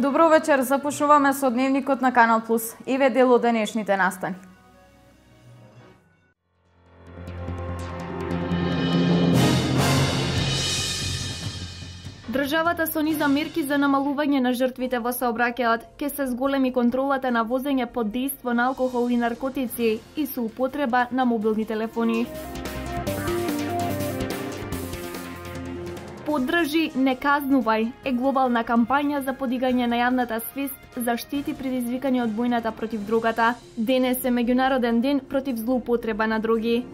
Добро вечер, започнуваме со дневникот на Канал Плюс. Еве дел од денешните настани. Државата со низа мерки за намалување на жртвите во сообраќајот ќе се зголеми контролата на возење под дејство на алкохол и наркотици и со употреба на мобилни телефони. Поддржи, не казнувај е глобална кампања за подигање на јавната свест за штети предизвикани од војната против дрогата. Денес е меѓународен ден против злоупотреба на дроги.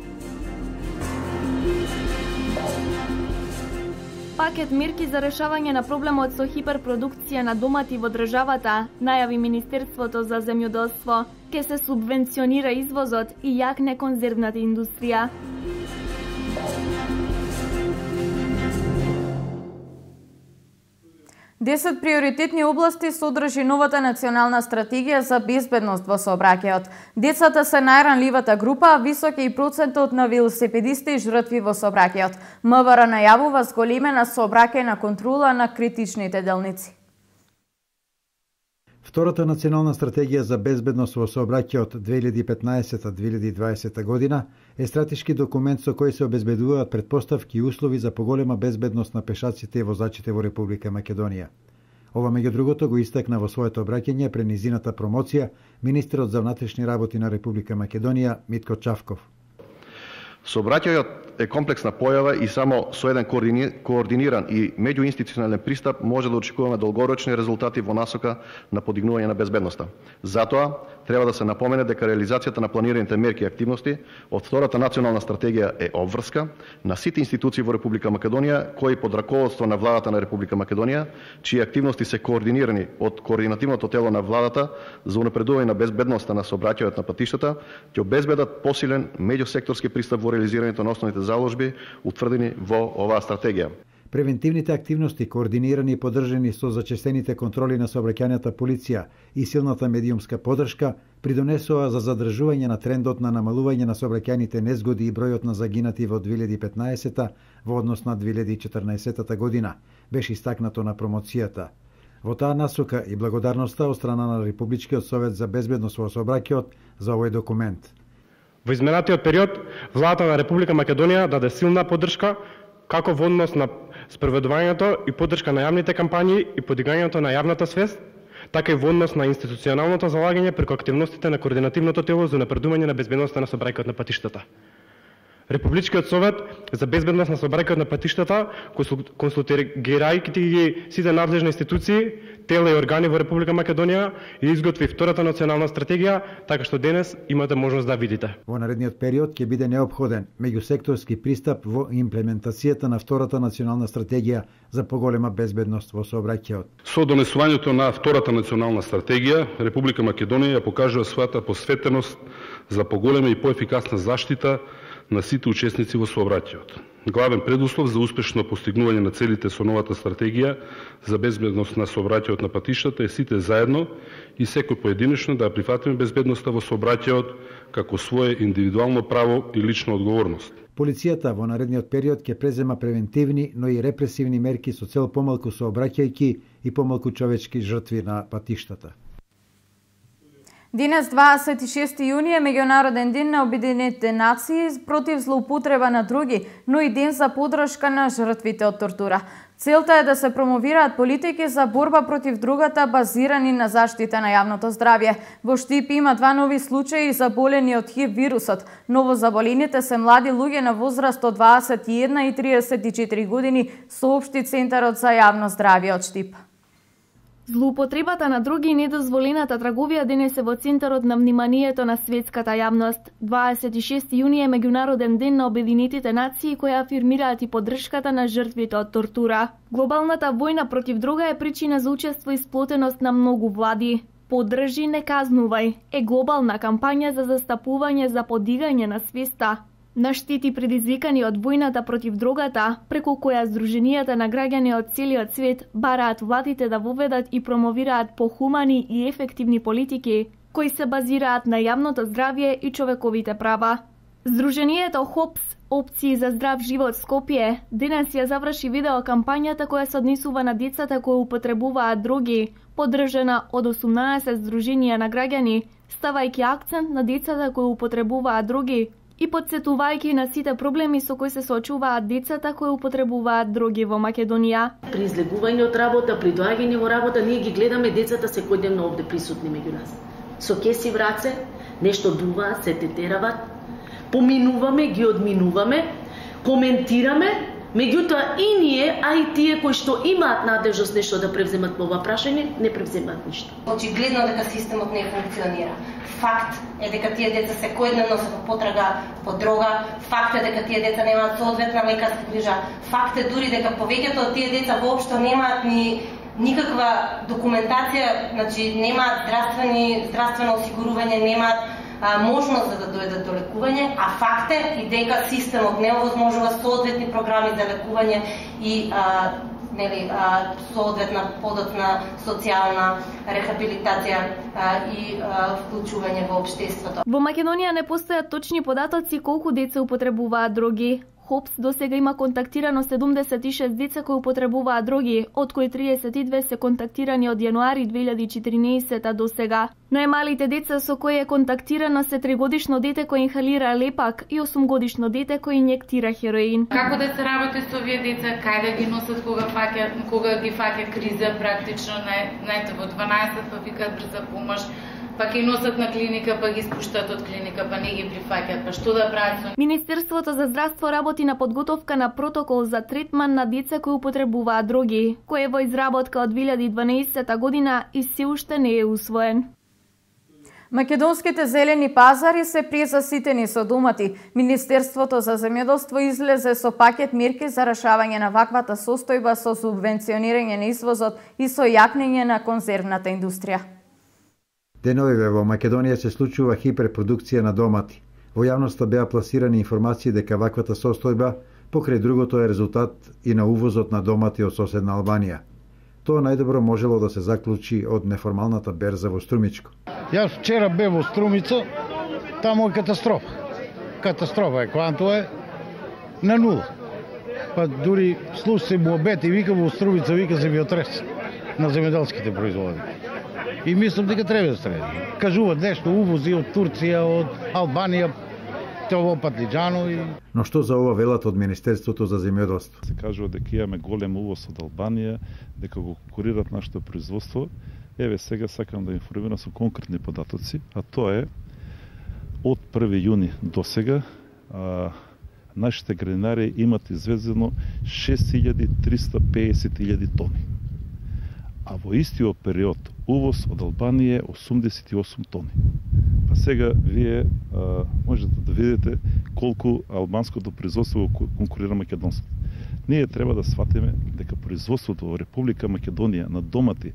Пакет мерки за решавање на проблемот со хиперпродукција на домати во државата, најави Министерството за земјоделство. Ке се субвенционира извозот и јакне конзервната индустрија. Десет приоритетни области содржи новата национална стратегија за безбедност во сообраќајот. Децата се најранливата група, а висок е и процентот на велосипедисти и жртви во сообраќајот. МВР најавува зголемена сообраќајна контрола на критичните делници. Втората национална стратегија за безбедност во сообраќајот 2015-2020 година е стратешки документ со кој се обезбедуваат претпоставки и услови за поголема безбедност на пешаците и возачите во Република Македонија. Ова меѓу другото го истакна во своето обраќање пред низината промоција министерот за внатрешни работи на Република Македонија Митко Чавков. Сообраќајот е комплексна појава и само со еден координиран и меѓуинституционален пристап може да очекуваме долгорочни резултати во насока на подигнување на безбедноста. Затоа треба да се напомене дека реализацијата на планираните мерки и активности од втората национална стратегија е обврска на сите институции во Република Македонија кои под раководство на владата на Република Македонија, чии активности се координирани од координативното тело на владата за унапредување на безбедноста на сообраќајот на патиштата, ќе обезбедат посилен меѓусекторски пристап во реализирањето на основните заложби утврдени во оваа стратегија. Превентивните активности, координирани и поддржани со зачестените контроли на сообраќајната полиција и силната медиумска поддршка, придонесоа за задржување на трендот на намалување на сообраќајните незгоди и бројот на загинати во 2015 во однос на 2014 година, беше истакнато на промоцијата. Во таа насока и благодарноста од страна на Републичкиот совет за безбедност во сообраќајот за овој документ. Во изминатиот период, владата на Република Македонија даде силна поддршка како во однос на спроведувањето и поддршка на јавните кампањи и подигањето на јавната свест, така и во однос на институционалното залагање преку активностите на координативното тело за унапредување на безбедноста на сообраќајот на патиштата. Републичкиот совет за безбедност на сообраќајот на патиштата, консултирајќи ги сите надлежни институции, тела и органи во Република Македонија, и изготви втората национална стратегија, така што денес имате можност да видите. Во наредниот период ќе биде неопходен меѓусекторски пристап во имплементацијата на втората национална стратегија за поголема безбедност во сообраќајот. Со донесувањето на втората национална стратегија, Република Македонија ја покажува својата посветеност за поголема и поефикасна заштита на сите учесници во сообраќајот. Главен предуслов за успешно постигнување на целите со новата стратегија за безбедност на сообраќајот на патиштата е сите заедно и секој поединечно да прифатиме безбедноста во сообраќајот како свое индивидуално право и лична одговорност. Полицијата во наредниот период ќе презема превентивни, но и репресивни мерки со цел помалку сообраќајки и помалку човечки жртви на патиштата. Денес, 26 јуни, е меѓународен ден на Обединетите нации против злоупотреба на дроги, но и ден за поддршка на жртвите од тортура. Целта е да се промовираат политики за борба против дрогата базирани на заштита на јавното здравје. Во Штип има 2 нови случаи заболени од ХИВ вирусот. Новозаболените се млади луѓе на возраст од 21 и 34 години, соопшти Центарот за јавно здравје од Штип. Злоупотребата на дроги и недозволената трговија денес е во центарот на вниманието на светската јавност. 26 јуни е меѓународен ден на Обединетите нации кои афирмираат и поддршката на жртвите од тортура. Глобалната војна против дрога е причина за учество и сплотеност на многу влади. Поддржи, не казнувај е глобална кампања за застапување за подигање на свеста на штети предизвикани од војната против дрогата, преку која здруженијата на граѓани од целиот свет бараат владите да воведат и промовираат похумани и ефективни политики кои се базираат на јавното здравје и човековите права. Здруженијето ХОПС, Опции за здрав живот Скопје, денес ја заврши видео кампањата која се однесува на децата кои употребуваат дроги, поддржана од 18 здруженија на граѓани, ставајќи акцент на децата кои употребуваат дроги и подсетувајќи на сите проблеми со кои се соочуваат децата кои употребуваат дроги во Македонија. При излегување од работа, при доаѓање во работа, ние ги гледаме децата секојдневно овде присутни меѓу нас. Со кеси в раце, нешто дуваат, се тетерават, поминуваме, ги одминуваме, коментираме, меѓутоа и ние, а и тие кои што имаат надежност нешто да превземат по ова прашање, не превземаат ништо. Очигледно дека системот не функционира. Факт е дека тие деца секојдневно се во потрага по дрога, факт е дека тие деца немаат соодветна лекарска грижа, факт е дури дека повеќето од тие деца воопшто немаат ни никаква документација, значи немаат здравствено осигурување, немаат можност да дојдат до лекување, а факт е и дека системот не овозможува соодветни програми за лекување и соодветна подоцна социјална рехабилитација и вклучување во општеството. Во Македонија не постојат точни податоци колку деца употребуваат дроги. ХОПС досега има контактирано 76 деца кои употребуваат дроги, од кои 32 се контактирани од јануари 2014 до сега. Најмалите деца со кои е контактирано се 3-годишно дете кој инхалира лепак и 8-годишно дете кој инјектира хероин. Како да се работи со овие деца, кај да ги носат кога ги фаќа криза, практично најте во 12 па викаат брза помош, па ќе носат на клиника, па ги спуштат од клиника, па не ги прифаќат, па што да прават? Министерството за здравство работи на подготовка на протокол за третман на деца кои употребуваат дроги, кој е во изработка од 2012 година и се уште не е усвоен. Македонските зелени пазари се презаситени со домати. Министерството за земјоделство излезе со пакет мерки за решавање на ваквата состојба со субвенционирање на извозот и со јакнење на конзервната индустрија. Деновиве во Македонија се случува хиперпродукција на домати. Во јавноста беа пласирани информации дека ваквата состојба покрај другото е резултат и на увозот на домати од соседна Албанија. Тоа најдобро можело да се заклучи од неформалната берза во Струмичко. Јас вчера бев во Струмица, таму е катастрофа. Катастрофа е, кванто е на нула. Па дури слушај му обети, вика во Струмица, вика земјотрес на земјоделските производи. И мислам дека треба да стреди. Кажуваат нешто увози од Турција, од Албанија, тоа патлиџано и... Но што за ова велат од Министерството за земјоделство? Се кажува дека имаме голем увоз од Албанија, дека го конкурираат нашето производство. Еве сега сакам да информирам со конкретни податоци, а тоа е од 1 јуни до сега нашите градинари имат извезено 6350.000 тони. А во истиот период увоз од Албанија е 88 тони. Па сега вие можете да видите колку албанското производство конкурира македонското. Ние треба да сватиме дека производството во Република Македонија на домати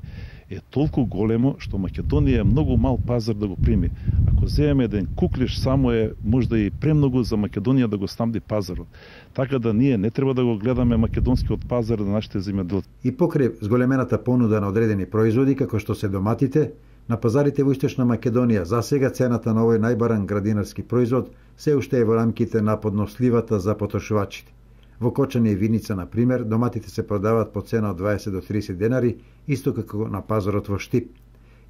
е толку големо што Македонија е многу мал пазар да го прими. Ако земеме еден куклиш, само е можда и премногу за Македонија да го снабди пазарот. Така да ние не треба да го гледаме македонскиот пазар на нашите земјоделци. И покрај зголемената понуда на одредени производи како што се доматите, на пазарите во Источна Македонија за сега цената на овој најбаран градинарски производ се уште е во рамките на подносливата за потрошувачите. Во Кочани и Виница, на пример, доматите се продаваат по цена од 20 до 30 денари, исто како на пазарот во Штип.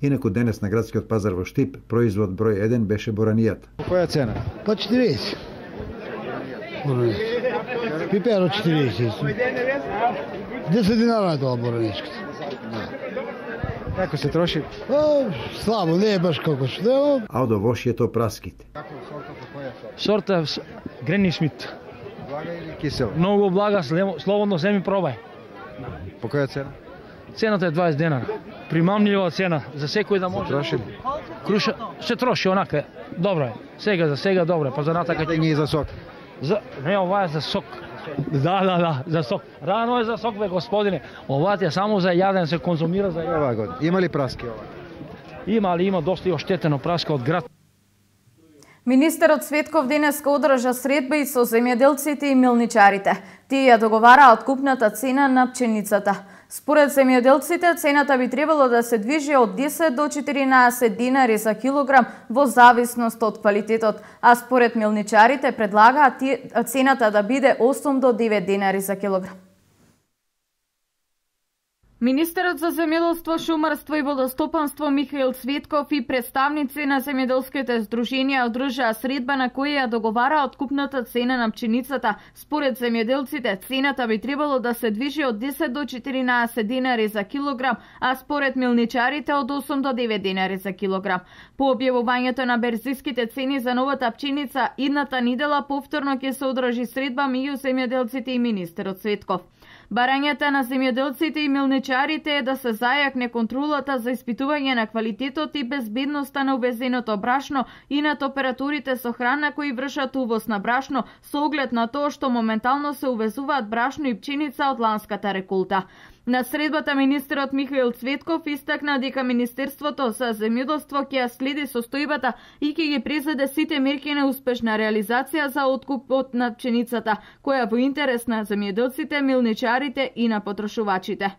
Инаку денес на градскиот пазар во Штип, производ број 1 беше боранијата. По која цена? По 40. Пиперо 40. 10 динара е тоа бораничката. Како се троши? Слабо, не е баш како што. А од овошјето праските. Сорта Грени Смит. Блага или кисел? Многу блага, слободно земи пробај. По која цена? Цената е 20 денара. Примамлива цена за секој да може. Троши? Круша се троши онака. Добро е. Сега за сега добро е. Па за натака ќе ги за сок. Не, ова е за сок. Да, за сок. Рано е за сок, бе, господине. Ова е само за јаден, се конзумира за јаден. Ова година. Има ли праски ова? Има доста и оштетено праска од град. Министерот Светков денеска одржа средба и со земјоделците и милничарите. Тие ја договараа откупната цена на пченицата. Според земјоделците, цената би требало да се движи од 10 до 14 динари за килограм во зависност од квалитетот, а според милничарите предлагаат цената да биде 8 до 9 динари за килограм. Министерот за земјоделство, шумарство и водостопанство Михаил Цветков и представници на земјоделските здруженија одржаа средба на која ја договара откупната цена на пченицата. Според земјоделците, цената би требало да се движи од 10 до 14 динари за килограм, а според милничарите од 8 до 9 динари за килограм. По објавувањето на берзиските цени за новата пченица, идната недела повторно ќе се одржи средба меѓу земјоделците и министерот Цветков. Барањата на земјоделците и милничарите е да се зајакне контролата за испитување на квалитетот и безбедноста на увезеното брашно и над операторите со храна кои вршат увоз на брашно со оглед на тоа што моментално се увезуваат брашно и пченица од ланската реколта. На средбата министерот Михаил Цветков истакна дека Министерството за земјоделство ќе ја следи состојбата и ќе ги презеде сите мерки на успешна реализација за откупот на пченицата, која во интерес на земјоделците, милничарите и на потрошувачите.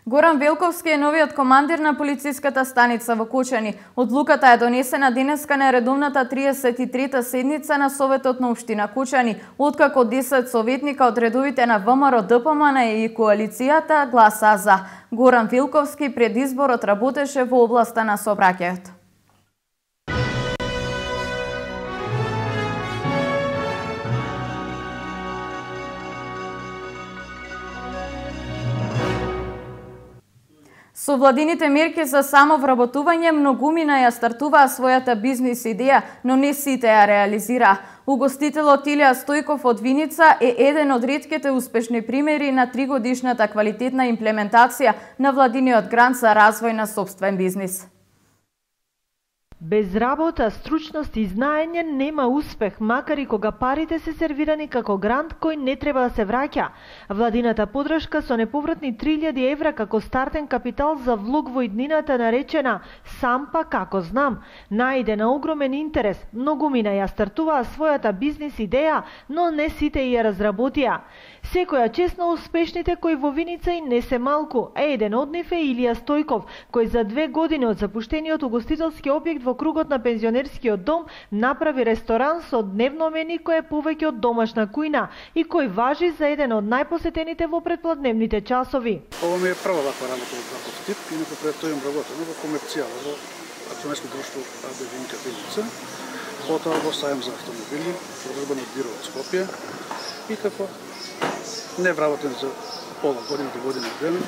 Горан Велковски е новиот командир на полициската станица во Кочани. Одлуката е донесена денеска на редовната 33-та седница на Советот на Општина Кочани, откако 10 советника од редовите на ВМРО, ДПМН и коалицијата гласа за. Горан Велковски пред изборот работеше во областа на сообраќајот. Со владините мерки за самовработување, многумина ја стартуваа својата бизнис идеја, но не сите ја реализираа. Угостителот Илија Стојков од Виница е еден од ретките успешни примери на 3-годишната квалитетна имплементација на владиниот грант за развој на сопствен бизнис. Без работа, стручност и знаење нема успех, макар и кога парите се сервирани како грант кој не треба да се враќа. Владината подршка со неповратни 3000 евра како стартен капитал за влог во иднината наречена «Сам па како знам» најде на огромен интерес. Многумина ја стартуваа својата бизнис идеја, но не сите ја разработија. Секоја чест на успешните кои во Виница и не се малку, а еден од нив е Илија Стојков, кој за 2 години од запуштениот угостителски објект во кругот на пензионерскиот дом направи ресторан со дневно меню кој е повеќе од домашна кујна и кој важи за еден од најпосетените во предпладневните часови. Ова ми е прва ваква работа од таков тип, инаку пред тој им работено во комерцијала во акционерско друштво АБ Виника Виница, потоа во сајам за автомобили, продажба на бiro од Скопје и како не вработен за пола година до година дена,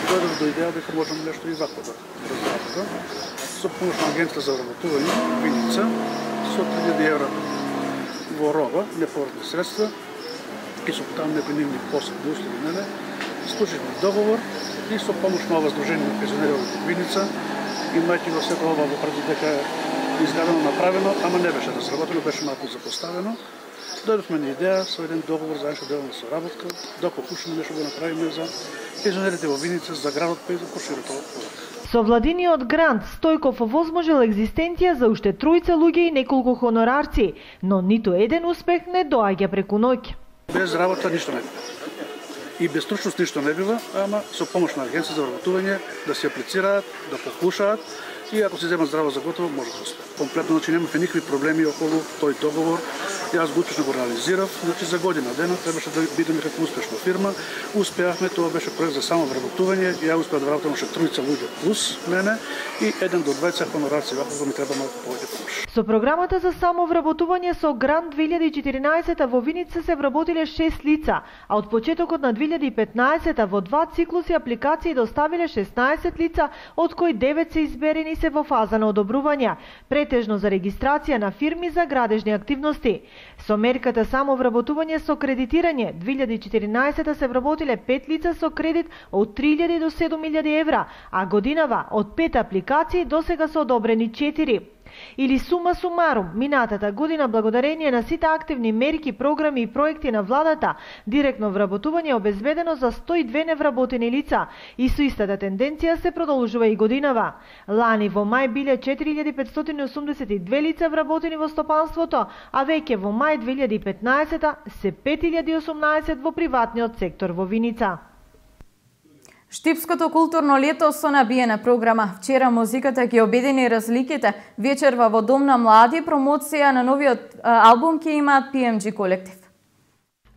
дојдов до идеја дека можам нешто и вакво да разработам. Со помош на агенција за вработување Виница, со 3000 евра во роба, неповратни средства, и со таму некои нивни посебни услови мене, склучивме договор и со помош на ова Сдружение на пензионери во Виница, имајќи го сето ова во пред дека е изградено, направено, ама не беше разработено, беше малку запоставено. Дојдовме на идеја со еден договор за наша делна соработка, да покушаме нешто да направиме за пензионерите во Виница, за градот, па и за проширото. Со владиниот грант Стојков овозможил екзистенција за уште 3 луѓе и неколку хонорарци, но ниту еден успех не доаѓа преку ноќ. Без работа ништо не бива. И без стручност ништо не бива, ама со помош на агенција за вработување да се аплицираат, да покушаат и ако се земат здраво за готово, може да успее. Комплетно, значи немавме никакви проблеми околу тој договор. Јас го успешно го реализирав, значи за година дена требаше да бидеме како успешна фирма. Успеавме, тоа беше проект за самовработување, ја успеав да вработам уште 3 луѓе плюс мене и 1 до 20 хонорарци, вако ми треба малку повеќе помош. Со програмата за самовработување со грант 2014 во Виница се вработиле 6 лица, а од почетокот на 2015 во 2 циклуси апликации доставиле 16 лица, од кои 9 се изберени се во фаза на одобрување, претежно за регистрација на фирми за градежни активности. Со мерката самовработување со кредитирање 2014 се вработиле 5 лица со кредит од 3000 до 7000 евра, а годинава од 5 апликации досега се одобрени 4. Или сума сумарум, минатата година благодарение на сите активни мерки, програми и проекти на владата, директно вработување е обезбедено за 102 невработени лица и со истата тенденција се продолжува и годинава. Лани во мај биле 4582 лица вработени во стопанството, а веќе во мај 2015 се 5018 во приватниот сектор во Виница. Штипското културно лето со набиена програма. Вчера музиката ги обедини разликите. Вечерва во Дом на млади промоција на новиот албум ќе имаат PMG колектив.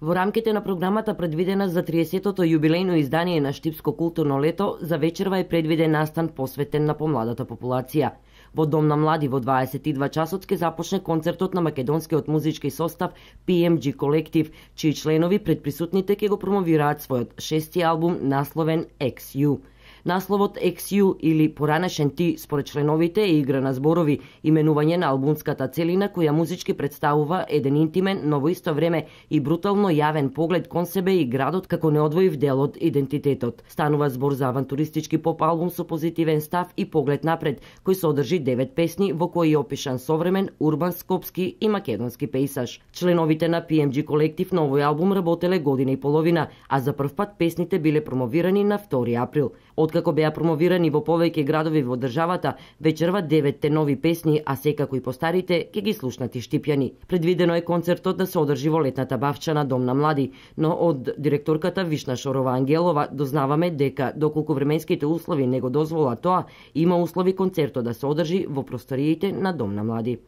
Во рамките на програмата предвидена за 30-тото јубилејно издание на Штипско културно лето, за вечерва е предвиден настан посветен на помладата популација. Во Дом на млади во 22 часот ќе започне концертот на македонскиот музички состав PMG колектив, чии членови пред присутните ќе го промовираат својот 6-ти албум насловен XU. Насловот XU или Поранешен ти според членовите е игра на зборови, именување на албумската целина која музички представува еден интимен, но во исто време и брутално јавен поглед кон себе и градот како неодвоив дел од идентитетот. Станува збор за авантуристички поп албум со позитивен став и поглед напред, кој содржи 9 песни во кои е опишан современ, урбан, скопски и македонски пејсаж. Членовите на PMG колектив на овој албум работеле година и половина, а за прв пат песните биле промовирани на 2 април. Откако беа промовирани во повеќе градови во државата, вечерва 9 нови песни, а секако и постарите ќе ги слушнат и штипјани. Предвидено е концертот да се одржи во летната бавча на Дом на млади, но од директорката Вишна Шорова Ангелова дознаваме дека доколку временските услови не го дозволат тоа, има услови концертот да се одржи во просториите на Дом на млади.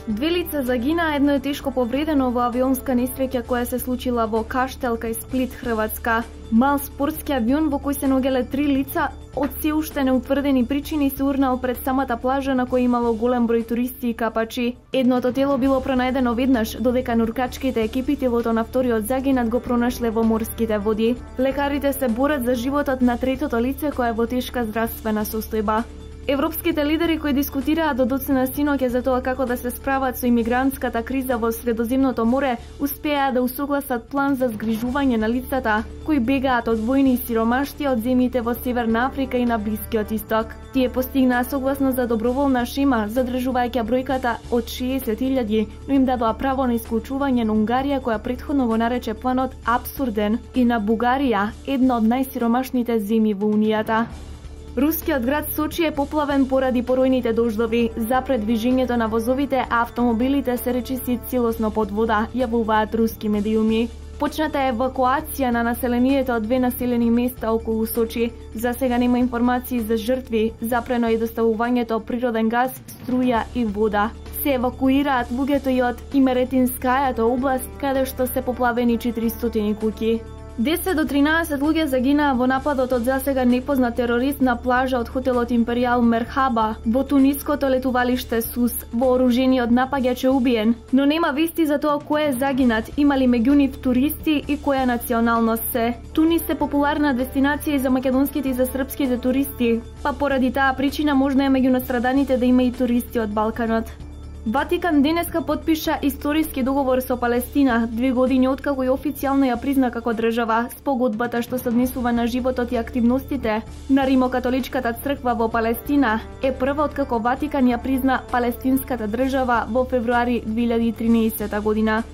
Две лица загина, едно е тешко повредено во авионска несреќа која се случила во Каштел кај Сплит, Хрватска. Мал спортски авион во кој се ногеле 3 лица од се уште неутврдени причини се урнал пред самата плажа на која имало голем број туристи и капачи. Едното тело било пронајдено веднаш, додека нуркачките екипи телото на вториот загинат го пронашле во морските води. Лекарите се борат за животот на третото лице кое е во тешка здравствена состојба. Европските лидери кои дискутираат до доцна синоќа за тоа како да се справат со имигрантската криза во Средоземното море, успеа да усогласат план за згрижување на лицата кои бегаат од војни и сиромаштија од земјите во Северна Африка и на Блискиот Исток. Тие постигнаа согласност за доброволна шема, задржувајќи бројката од 60.000, но им дадоа право на исклучување на Унгарија која претходно го нарече планот абсурден и на Бугарија, една од најсиромашните земји во Унијата. Рускиот град Сочи е поплавен поради поројните дождови. За предвижењето на возовите, а автомобилите се речиси целосно под вода, јавуваат руски медиуми. Почната е евакуација на населението од 2 населени места околу Сочи. За сега нема информации за жртви, запрено е доставувањето природен газ, струја и вода. Се евакуираат луѓето и од Имеретинскајата област, каде што се поплавени 400 куќи. 10 до 13 луѓе загинаа во нападот од засега непознат терорист на плажа од хотелот Империјал Мерхаба во туниското летувалиште Сус. Вооружениот напаѓач е убиен, но нема вести за тоа кој е загинат, имали меѓу нив туристи и која националност се. Тунис е популарна дестинација и за македонските и за српските туристи, па поради таа причина можно е меѓу настраданите да има и туристи од Балканот. Ватикан денеска потпиша историски договор со Палестина, 2 години откако и официјално ја призна како држава. Спогодбата што се однесува на животот и активностите на Римокатоличката црква во Палестина е прва откако Ватикан ја призна палестинската држава во февруари 2013 година.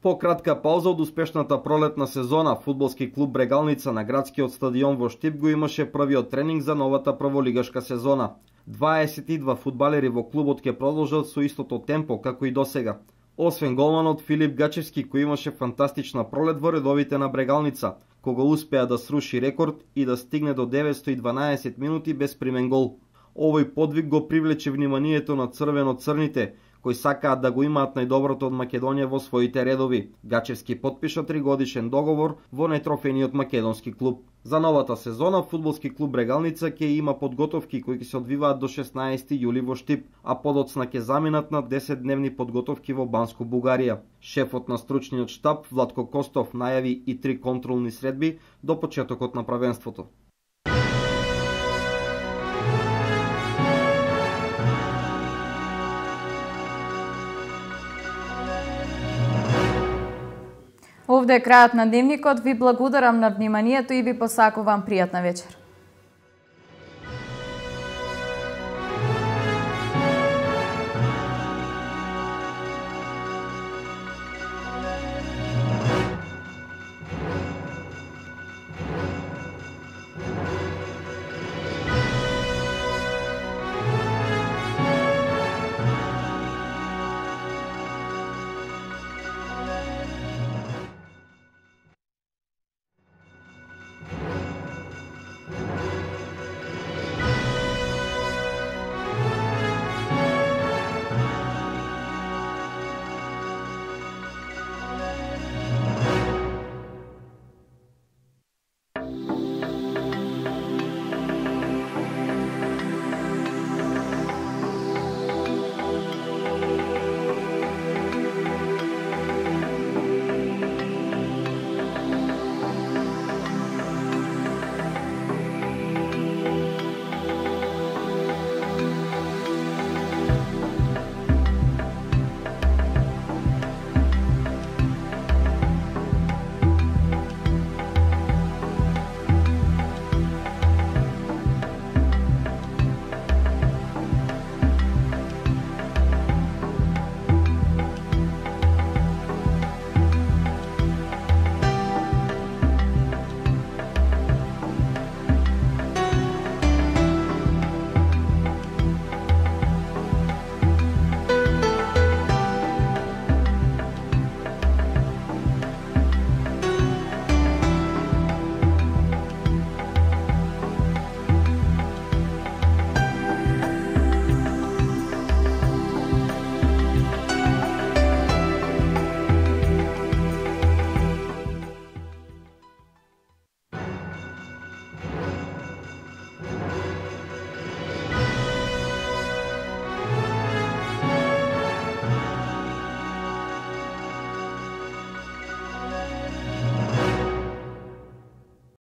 По кратка пауза од успешната пролетна сезона, фудбалски клуб Брегалница на градскиот стадион во Штип го имаше првиот тренинг за новата прволигашка сезона. 22 фудбалери во клубот ќе продолжат со истото темпо како и досега. Освен голманот Филип Гачевски кој имаше фантастична пролет во редовите на Брегалница, кога успеа да сруши рекорд и да стигне до 912 минути без примен гол. Овој подвиг го привлече вниманието на црвено-црните, кои сакаат да го имаат најдоброто од Македонија во своите редови. Гачевски потпиша 3-годишен договор во нетрофениот македонски клуб. За новата сезона фудбалски клуб Брегалница ќе има подготовки кои ќе се одвиваат до 16 јули во Штип, а подоцна ќе заминат на 10-дневни подготовки во Банско Бугарија. Шефот на стручниот штаб Владко Костов најави и 3 контролни средби до почетокот на правенството. Овде е крајот на дневникот. Ви благодарам на вниманието и ви посакувам пријатна вечер.